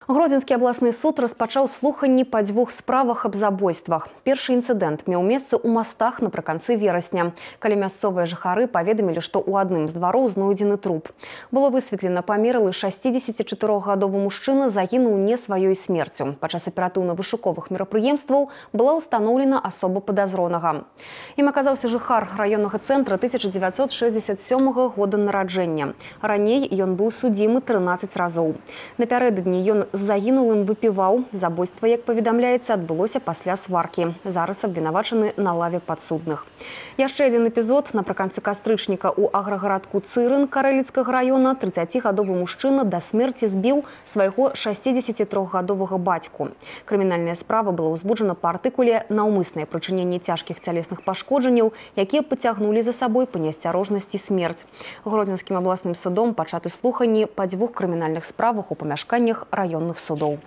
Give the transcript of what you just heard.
Гродзенскі абласны суд распачаў слуханні па дзвюх справах аб забойствах. Першы інцыдэнт меў месца ў Мастах напрыканцы верасня, калі мясцовыя жыхары паведамілі, што ў адным з двароў знойдзены труп. Было высветлена, памерлы 64-гадовы мужчына загінуў не сваёй смерцю. Падчас аператыўна-вышуковых мерапрыемстваў была ўстаноўлена асоба падазронага. Ім аказаўся жыхар раённага цэнтра 1967 года нараджэння. Раней ён быў судзімы 13 разоў. Напярэдадні ён з загінулым выпіваў. Забойства, як паведамляецца, адбылося пасля сваркі. Зараз абвінавачаны на лаве падсудных. Яшчэ адзін эпізод. Напрыканцы кастрычніка ў аграгарадку Цырын Карэліцкага раёна 30-гадовы мужчына да смерці збіў свайго 63-гадовага бацьку. Крымінальная справа была ўзбуджана па артыкуле «Наўмыснае прычыненне цяжкіх цялесных пашкоджанняў», якія пацягнулі за сабой па неасцярожнасці смерць. Гродзенскім абласным судом пачаты слуханні па дзвюх крымінальных справах у памяшканнях раённых судоў.